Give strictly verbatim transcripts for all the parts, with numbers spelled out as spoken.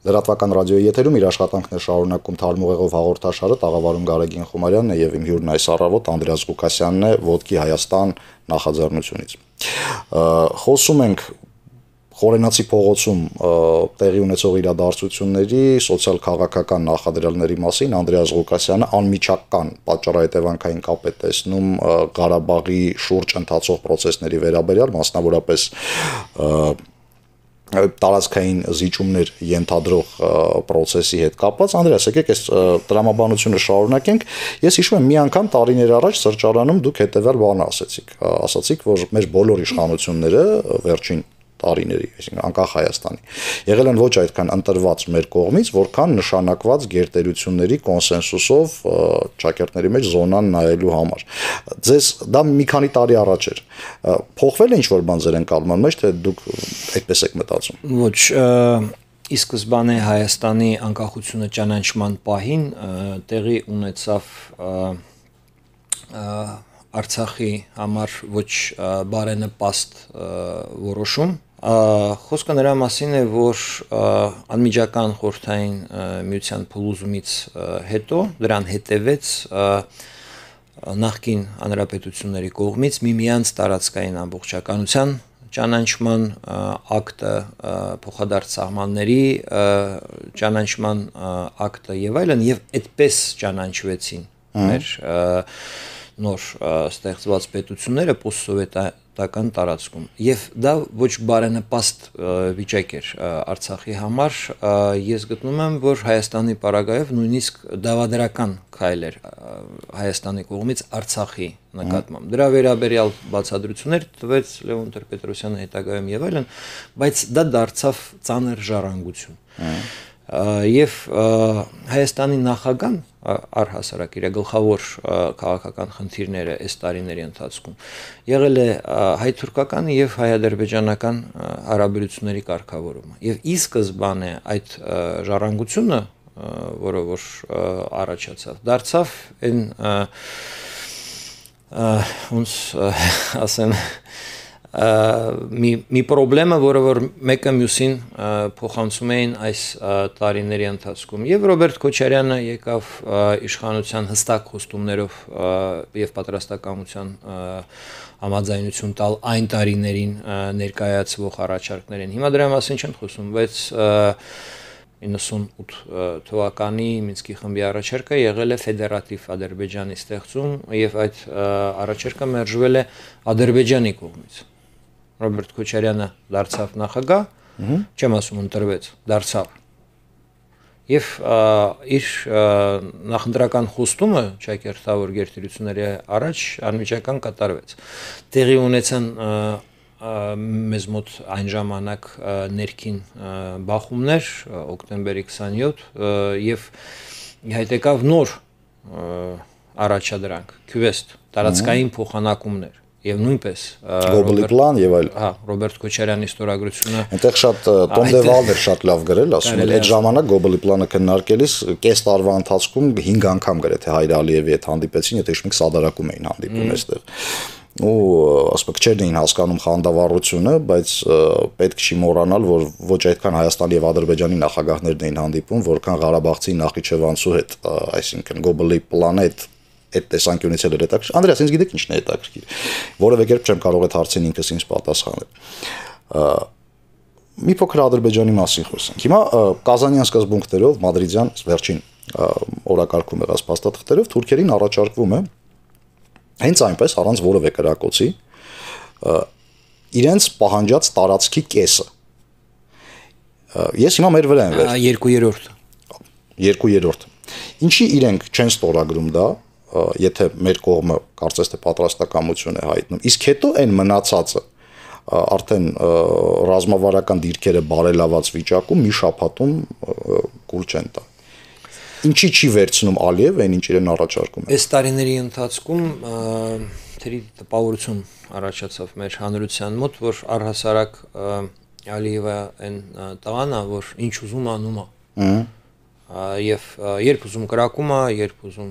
Լրատվական ռադիոյի եթերում իր աշխատանքն է շարունակում Թարմուղեղով հաղորդաշարը, տաղավարում Գարեգին Խումարյանն է եւ իմ հյուրն այս առավոտ Անդրեաս Ղուկասյանն է Ոտքի Հայաստան նախաձեռնությունից։ Խոսում ենք Խորենացի փողոցում տեղի ունեցող իրադարձությունների սոցիալ-քաղաքական նախադրյալների մասին Անդրեաս Ղուկասյանը անմիջական պատճառահետևանքային կապ է տեսնում Ղարաբաղի շուրջ ընթացող process-ների վերաբերյալ, մասնավորապես տարածքային զիջումներ ենթադրող process-ի հետ կապված։ Անդրեաս, եկեք այս տրամաբանությունը շարունակենք։ Ես հիշում եմ մի անգամ տարիներ առաջ սրճարանում դուք հետևյալ բանը ասացիք, ասացիք, որ մեր բոլոր իշխանությունները վերջին տարիների, այսինքն անկախ Հայաստանի, եղել են ոչ այդքան ընտրված մեր կողմից, որքան նշանակված գերտերությունների կոնսենսուսով ճակերտների մեջ զոնան նայելու համար։ Ձեզ դա մի քանի տարի առաջ էր։ Փոխվել է ինչ-որ բան ձեր ընկալման մեջ, թե դուք այդպես եք մտածում։ Ոչ, ի սկզբանե Հայաստանի անկախությունը ճանաչման պահին տեղի ունեցավ Արցախի համար ոչ բարենպաստ որոշում։ Խոսքը նրա մասին է, որ անմիջական խորհրդային միության փլուզումից հետո դրան հետևեց նախկին հանրապետությունների կողմից միմյանց տարածքային ամբողջականության ճանաչման ակտը, փոխադարձ սահմանների ճանաչման ակտը եւ այլն, եւ այդպես ճանաչվեցին մեր նոր ստեղծված պետությունները post-սովետական տարածքում եւ դա ոչ բարենպաստ վիճակ էր Արցախի համար։ Ես գտնում եմ, որ Հայաստանի պարագայով նույնիսկ դավադրական քայլ էր Հայաստանի կողմից Արցախի նկատմամբ։ Դրա վերաբերյալ բացատրություններ տվեց Լևոն Տեր-Պետրոսյանը հետագայում եւ այլն, բայց դա դարձավ ծանր ժառանգություն։ Եվ Հայաստանի նախագահան առհասարակ իր գլխավոր քաղաքական խնդիրները այս տարիների ընթացքում եղել է հայ-թուրքական եւ հայ-ադրբեջանական հարաբերությունների կարգավորումը։ Եվ ի սկզբանե այդ ժառանգությունը, որը որ առաջացավ, դարձավ այն ոնց ասեմ մի մի խնդրեմը, որը որ մեկը մյուսին փոխանցում էին այս տարիների ընթացքում։ Եվ Ռոբերտ Քոչարյանը եկավ իշխանության հստակ խոստումներով եւ պատրաստակամության համաձայնություն տալ այն տարիներին ներկայացվող առաջարկներին։ Հիմա դրա մասին չեն խոսում, բայց իննսունութ թվականի Մինսկի խմբի առաջարկը եղել է ֆեդերատիվ Ադրբեջանի ստեղծում եւ այդ առաջարկը մերժվել է Ադրբեջանի կողմից։ Ռոբերտ Քոչարյանը դարձավ նախագահ, չեմ ասում ընտրվեց, դարձավ։ Եվ իր նախընտրական խոստումը ճակերտավոր գերտերությունների առաջ անմիջական կատարվեց։ Տեղի ունեցան մեզ մոտ այն ժամանակ ներքին բախումներ, օկտեմբերի քսանյոթ, եւ իհայտ եկավ նոր առաջադրանք, քյուվեստ, տարածքային փոխանակումներ։ Եվ նույնպես Գոբլի պլան եւ այլ։ Հա, Ռոբերտ Քոչարյանի ստորագրությունը։ Այնտեղ շատ Տոմ դե Վալդեր շատ լավ գրել, ասում էր, այդ ժամանակ Գոբլի պլանը քննարկելիս կես տարվա ընթացքում հինգ անգամ գրեթե Հայր Ալիևի հետ հանդիպեցին, եթե հիշում եք, սադարակում էին հանդիպում այստեղ։ Ու ասում եք, չեն էին հասկանում խանդավառությունը, բայց պետք չի մոռանալ, որ ոչ այդքան Հայաստանի եւ Ադրբեջանի նախագահներն էին հանդիպում, որքան Ղարաբաղցի Նախիջևանցու հետ, այսինքն Գոբլի պլանը այդ այդ տեսանկյունից էլ հետաքրքիր։ Անդրեաս, ինձ գիտեք ինչն է հետաքրքիր։ Որևէ կերպ չեմ կարող այդ հարցին ինքս ինձ պատասխանել։ Մի փոքր Ադրբեջանի մասին խոսենք։ Հիմա Կազանյան սկզբունքներով մադրիդյան վերջին օրակարգում եղած փաստաթղթերով թուրքերին առաջարկվում է հենց այնպես առանց որևէ կրակոցի իրենց պահանջած տարածքի կեսը։ Ես հիմա մեր վրա եմ վեր։ Երկու երրորդ։ Երկու երրորդ։ Ինչի իրենք չեն ստորագրում դա, եթե մեր կողմը կարծես թե պատրաստակամություն է հայտնում, իսկ հետո այն մնացածը արդեն ռազմավարական դիրքերը բարելաված վիճակում մի շաբաթում կուլ չեն տա։ Ինչի չի վերցնում Ալիև այն ինչ իրեն առաջարկում է։ Այս տարիների ընթացքում թերի տպավորություն առաջացավ մեր հանրության մոտ, որ առհասարակ Ալիևը այն տղան է, որ ինչ ուզում անում է։ Եվ երբ ուզում կրակում է, երբ ուզում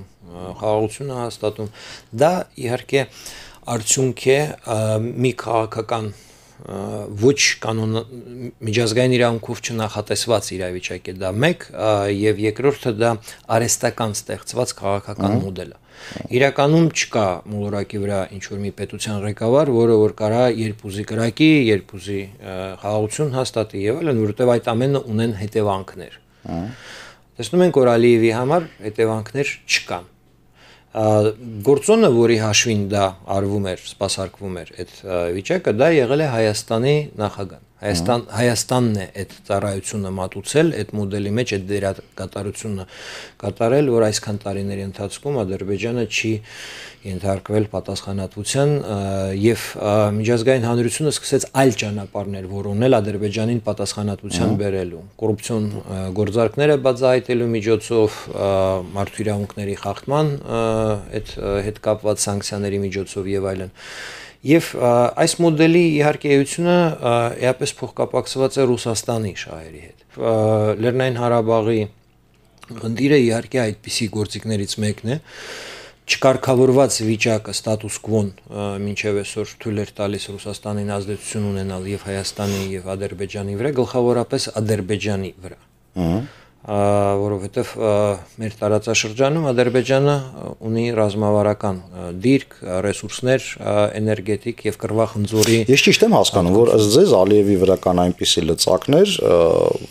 խաղաղություն է հաստատում, դա իհարկե արդյունք է մի քաղաքական ոչ կանոն միջազգային իրավունքով չնախատեսված իրավիճակ է դա մեկ, եւ երկրորդը դա արհեստական ստեղծված քաղաքական մոդել է։ Իրականում չկա մոլորակի վրա ինչ որ մի պետության ղեկավար, որը որ կարա երբ ուզի կրակի, երբ ուզի խաղաղություն հաստատի եւ այլն, որովհետեւ այդ ամենը ունեն հետևանքներ։ Տեսնում ենք, որ Ալիևի համար հետևանքներ չկան։ Գործոնը, որի հաշվին դա արվում էր, սպասարկվում էր այդ վիճակը, դա եղել է Հայաստանի նախագահան։ Հայաստան Հայաստանն է այդ ծառայությունը մատուցել, այդ մոդելի մեջ այդ դերակատարությունը կատարել, որ այսքան տարիների ընթացքում Ադրբեջանը չի ենթարկվել պատասխանատվության եւ միջազգային հանրությունը սկսեց այլ ճանապարհներ որոնել Ադրբեջանին պատասխանատվության բերելու, կոռուպցիոն գործարքները բացահայտելու միջոցով, մարդու իրավունքների խախտման այդ հետ կապված սանկցիաների միջոցով եւ այլն։ Եվ այս մոդելի իհարկե էությունը էապես փոխկապակցված է Ռուսաստանի շահերի հետ։ Լեռնային Ղարաբաղի խնդիրը իհարկե այդպիսի գործիքներից մեկն է, չկարգավորված վիճակը ստատուս կվոն մինչև այսօր թույլ էր տալիս Ռուսաստանին ազդեցություն ունենալ եւ Հայաստանի եւ Ադրբեջանի վրա, գլխավորապես Ադրբեջանի վրա։ Որովհետև մեր տարածաշրջանում Ադրբեջանը ունի ռազմավարական դիրք, ռեսուրսներ, էներգետիկ եւ կռվախնձորի։ Ես ճիշտ եմ հասկանում, որ ըստ ձեզ Ալիևի վրա կան այնպիսի լծակներ,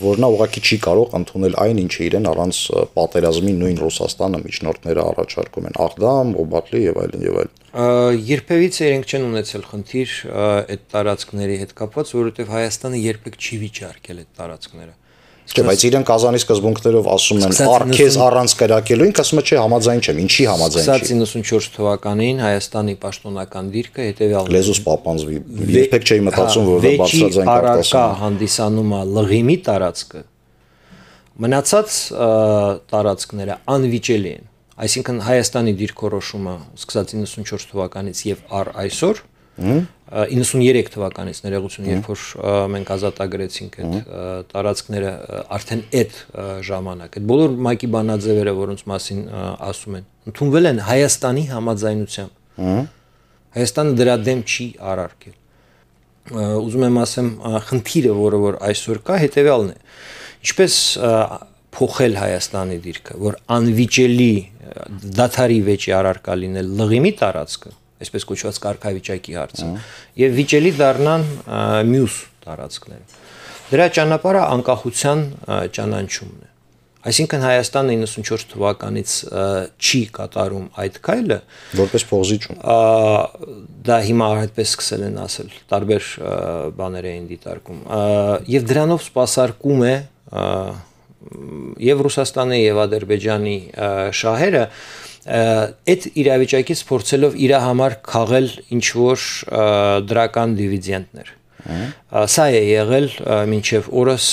որ նա ուղղակի չի կարող ընդունել այն, ինչը իրեն առանց պատերազմի նույն Ռուսաստանը միջնորդները առաջարկում են, Աղդամ, Օբատլի եւ այլն եւ այլն։ Երբևիցե իրենք չեն ունեցել խնդիր այդ տարածքների հետ կապված, որովհետև Հայաստանը երբեք չի վիճարկել այդ տարածքները։ Չէ, բայց իրեն Կազանի սկզբունքներով ասում են արքեզ առանց կրակելու, ինքը ասում է չէ, համաձայն չեմ, ինչի համաձայն չի։ Սկսած իննսունչորս թվականին Հայաստանի պաշտոնական դիրքը հետեւյալն է։ Լեզուս պապանձվի, երբեք չէի մտածում, որ դա բարձրաձայն կարտասում է։ Հանդիսանում է լղիմի տարածքը։ Մնացած տարածքները անվիճելի են։ Այսինքն Հայաստանի դիրքորոշումը սկսած իննսունչորս թվականից եւ առ այսօր իննսուններեք թվականից ներողություն, երբ որ մենք ազատագրեցինք այդ տարածքները արդեն այդ ժամանակ, այդ բոլոր ՄԱԿ-ի բանաձևերը, որոնց մասին ասում են, ընդունվել են Հայաստանի համաձայնությամբ։ Հայաստանը դրա դեմ չի արարքել։ Ուզում եմ ասեմ, խնդիրը, որը որ այսօր կա, հետեւյալն է։ Ինչպես փոխել Հայաստանի դիրքը, որ անվիճելի դադարի վեճի առարկա լինել լղիմի տարածքը, այսպես կոչված կարգավիճակի հարցը, եւ վիճելի դառնան մյուս տարածքները։ Դրա ճանապարհը անկախության ճանաչումն է։ Այսինքն Հայաստանը իննսունչորս թվականից չի կատարում այդ քայլը որպես փողզիչում։ Դա հիմա այդպես սկսել են ասել, տարբեր բաներ էին դիտարկում, եւ դրանով սպասարկում է եւ Ռուսաստանի եւ Ադրբեջանի շահերը այդ իրավիճակից փորձելով իր համար քաղել ինչ որ դրական դիվիդենդներ։ Սա է եղել մինչև օրս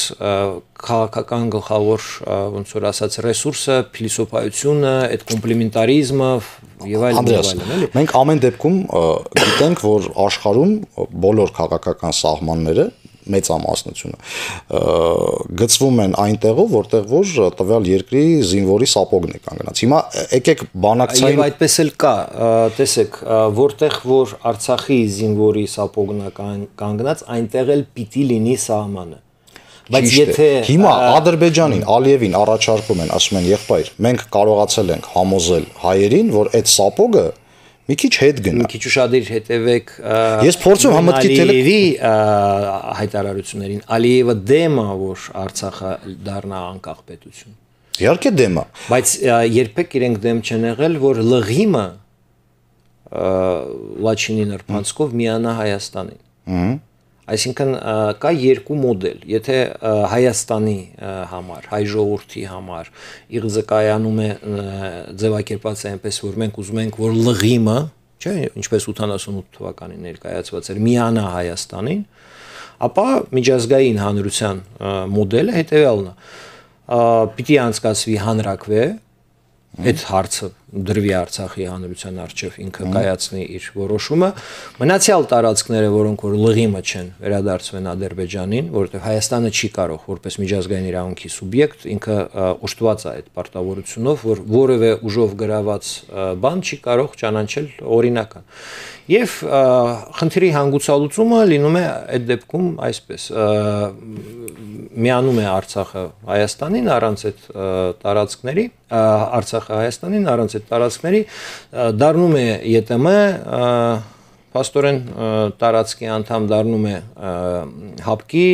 քաղաքական գլխավոր ոնց որ ասած ռեսուրսը, փիլիսոփայությունը, այդ կոմպլեմենտարիզմը եւ այլն եւ այլն, էլի։ Մենք ամեն դեպքում գիտենք, որ աշխարհում բոլոր քաղաքական սահմանները մեծամասնությունը գծվում են այնտեղով, որտեղ որ տվյալ երկրի զինվորի սապոգն է կանգնած։ Հիմա եկեք բանակցային եւ այդպես էլ կա, տեսեք, որտեղ որ Արցախի զինվորի սապոգն է կանգնած, այնտեղ էլ պիտի լինի սահմանը։ Բայց եթե հիմա Ադրբեջանին, Ալիևին առաջարկում են, ասում են, եղբայր, մենք կարողացել ենք համոզել հայերին, որ այդ սապոգը մի քիչ հետ գնա։ Մի քիչ ուշադիր հետևեք Ես փորձում եմ մտքի Ալիևի հայտարարություններին։ Ալիևը դեմ է, որ Արցախը դառնա անկախ պետություն։ Իհարկե դեմ է։ Բայց երբեք իրենք դեմ չեն եղել, որ լղիմը Լաչինի նրբանցքով միանա Հայաստանին։ Այսինքն կա երկու մոդել։ Եթե Հայաստանի համար, հայ ժողովրդի համար իղձը կայանում է ձևակերպած է այնպես, որ մենք ուզում ենք, որ լղիմը, չէ, ինչպես ութանասունութ թվականին ներկայացված էր, միանա Հայաստանին, ապա միջազգային հանրության մոդելը հետևյալն է. պիտի անցկացվի հանրակրվե, այդ հարցը դրվի Արցախի հանրության առջև ինքը կայացնի իր որոշումը, մնացյալ տարածքները, որոնք որ լղիմը չեն, վերադարձվեն Ադրբեջանին, որովհետև Հայաստանը չի կարող որպես միջազգային իրավունքի սուբյեկտ ինքը ուշտված է այդ պարտավորությունով, որ որևէ ուժով գրաված բան չի կարող ճանաչել օրինական։ Եվ խնդրի հանգուցալուծումը լինում է այդ դեպքում այսպես, միանում է Արցախը Հայաստանին առանց այդ տարածքների, Արցախը Հայաստանին առանց այդ տարածքների, դառնում է ԵՏՄ, փաստորեն տարածքի անդամ դառնում է ՀԱՊԿ-ի,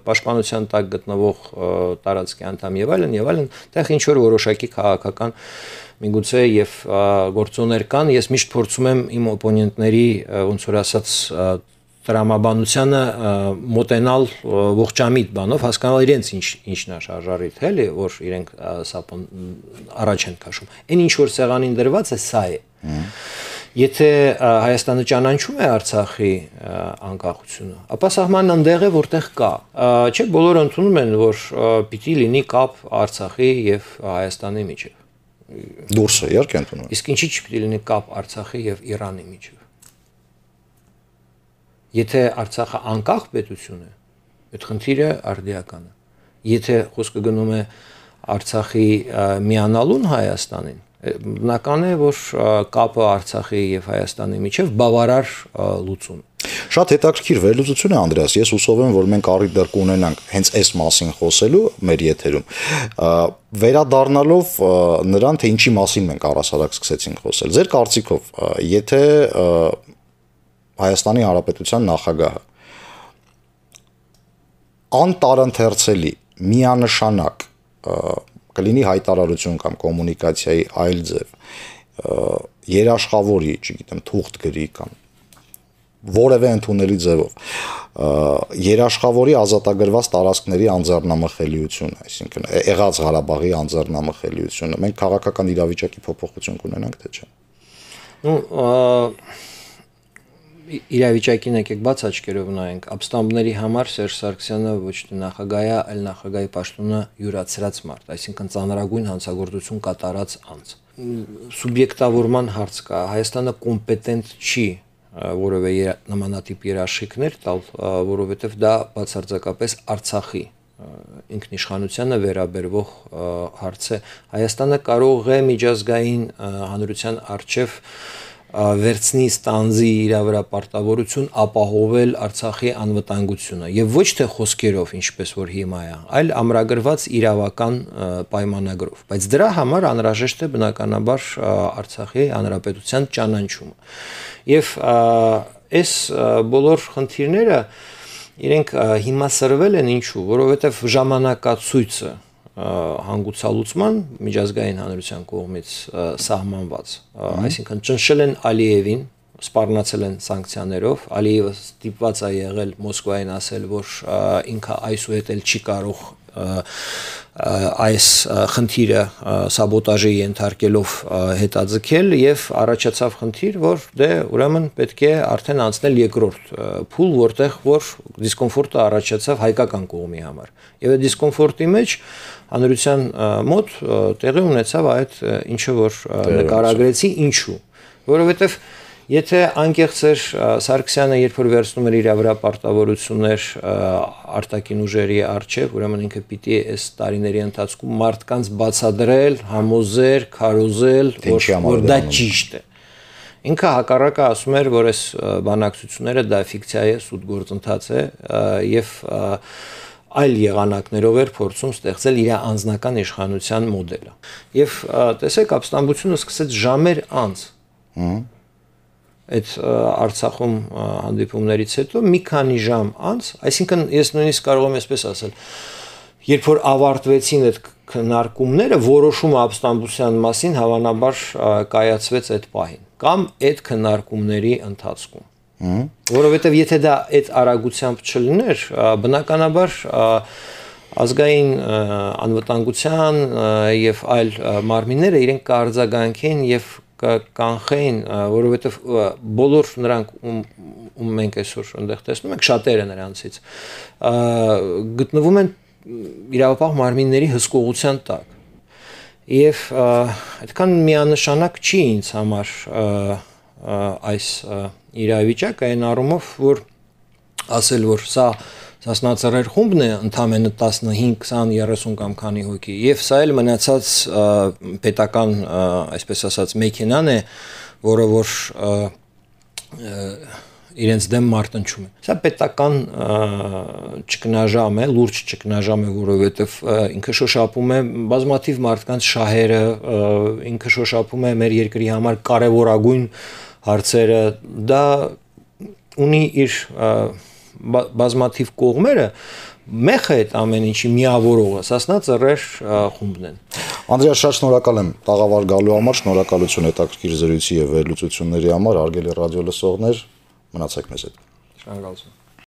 պաշտպանության տակ գտնվող տարածքի անդամ եւ այլն եւ այլն, այդտեղ ինչ որ որոշակի քաղաքական միգուցե եւ գործոններ կան, ես միշտ փորձում եմ իմ օպոնենտների ոնց որ ասած տրամաբանությանը մոտենալ ողջամիտ բանով, հասկանալ իրենց ինչ ինչն է շարժարիտ, էլի, որ իրենք սա առաջ են քաշում։ Այն ինչ որ սեղանին դրված է, սա է։ Եթե Հայաստանը ճանաչում է Արցախի անկախությունը, ապա սահմանն այնտեղ է, որտեղ կա։ Չէ, բոլորը ընդունում են, որ պիտի լինի կապ Արցախի եւ Հայաստանի միջեւ։ Դուրսը իհարկե ընդունում։ Իսկ ինչի՞ չպիտի լինի կապ Արցախի եւ Իրանի միջեւ։ Եթե Արցախը անկախ պետություն է, այդ խնդիրը արդիական է։ Եթե խոսքը գնում է Արցախի միանալուն Հայաստանին, բնական է, որ կապը Արցախի եւ Հայաստանի միջեւ բավարար լուծում։ Շատ հետաքրքիր վերլուծություն է, Անդրեաս, ես հուսով եմ, որ մենք առիթ դեռ կունենանք հենց այս մասին խոսելու մեր եթերում, վերադառնալով նրան, թե ինչի մասին մենք առասարակ սկսեցինք խոսել։ Ձեր կարծիքով, եթե Հայաստանի Հանրապետության նախագահը անտարընթերցելի, միանշանակ կլինի հայտարարություն կամ կոմունիկացիայի այլ ձև, երաշխավորի, չգիտեմ, թուղթ գրի կամ որևէ ընդունելի ձևով երաշխավորի ազատագրված տարածքների անձեռնամխելիությունը, այսինքն եղած Ղարաբաղի անձեռնամխելիությունը, մենք քաղաքական իրավիճակի փոփոխություն կունենանք, թե չէ։ Ну, իրավիճակին եկեք բաց աչքերով նայենք, ապստամբների համար Սերժ Սարգսյանը ոչ թե նախագահ է, այլ նախագահի պաշտոնը յուրացրած մարդ, այսինքն ծանրագույն հանցագործություն կատարած անձ։ Սուբյեկտավորման հարց կա, Հայաստանը կոմպետենտ չի որևէ նմանատիպ երաշխիքներ տալ, որովհետև դա բացարձակապես Արցախի ինքնիշխանությանը վերաբերվող հարց է։ Հայաստանը կարող է միջազգային հանրության առջև վերցնի ստանձի իր վրա պարտավորություն ապահովել Արցախի անվտանգությունը եւ ոչ թե խոսքերով, ինչպես որ հիմա է, այլ ամրագրված իրավական պայմանագրով, բայց դրա համար անհրաժեշտ է բնականաբար Արցախի հանրապետության ճանաչումը։ Եվ այս բոլոր խնդիրները իրենք հիմա սրվել են ինչու, որովհետեւ ժամանակացույցը հանգուցալուծման միջազգային հանրության կողմից սահմանված, այսինքն ճնշել են Ալիևին, սպառնացել են սանկցիաներով, Ալիևը ստիպված է եղել Մոսկվային ասել, որ ինքը այսուհետ էլ չի կարող այս խնդիրը սաբոտաժի ենթարկելով հետաձգել եւ առաջացավ խնդիր, որ դե ուրեմն պետք է արդեն անցնել երկրորդ փուլ, որտեղ որ դիսկոմֆորտը առաջացավ հայկական կողմի համար։ Եվ այդ դիսկոմֆորտի մեջ հանրության մոտ տեղի ունեցավ այդ ինչը որ նկարագրեցի, ինչու, որովհետեւ եթե անկեղծ էր Սարգսյանը, երբ որ վերցնում էր իր վրա պարտավորություններ արտաքին ուժերի առջև, ուրեմն ինքը պիտի այս տարիների ընթացքում մարդկանց բացադրել, համոզել, քարոզել, որ դա ճիշտ է։ Ինքը հակառակը ասում էր, որ այս բանակցությունները դա ֆիկցիա է, սուտ գործընթաց է եւ այլ եղանակներով էր փորձում ստեղծել իր անձնական իշխանության մոդելը։ Եվ տեսեք, ապստամբությունը սկսեց ժամեր անց։ Այդ Արցախում հանդիպումներից հետո մի քանի ժամ անց, այսինքն ես նույնիսկ կարող եմ այսպես ասել, երբ որ ավարտվեցին այդ քննարկումները, որոշումը ապստամբության մասին հավանաբար կայացվեց այդ պահին կամ այդ քննարկումների ընթացքում։ Որովհետև եթե դա այդ արագությամբ չլիներ, բնականաբար ազգային անվտանգության եւ այլ մարմինները իրենք կարձագանքեն եւ կանխեին, որովհետև բոլոր նրանք ում, ում մենք այսօր այնտեղ տեսնում ենք, շատերը նրանցից գտնվում են իրավապահ մարմինների հսկողության տակ։ Եվ այդքան միանշանակ չի ինձ համար այս իրավիճակը այն առումով, որ ասել, որ սա Սասնածռեր խումբն է ընդամենը տասնհինգ, քսան, երեսուն կամ քանի հոգի, եւ սա էլ մնացած պետական, այսպես ասած, մեքենան է, որը որ իրենց դեմ մարտնչում է։ Սա պետական ճգնաժամ է, լուրջ ճգնաժամ է, որովհետեւ ինքը շոշափում է բազմաթիվ մարդկանց շահերը, ինքը շոշափում է մեր երկրի համար կարևորագույն հարցերը, դա ունի իր բազմաթիվ կողմերը, մեխը այդ ամեն ինչի միավորողը Սասնածռեր խումբն են։ Անդրեաս, շատ շնորհակալ եմ տաղավար գալու համար, շնորհակալություն հետաքրքիր զրույցի եւ վերլուծությունների համար, հարգելի ռադիո լսողներ, մնացեք մեզ հետ։ Շնորհակալություն։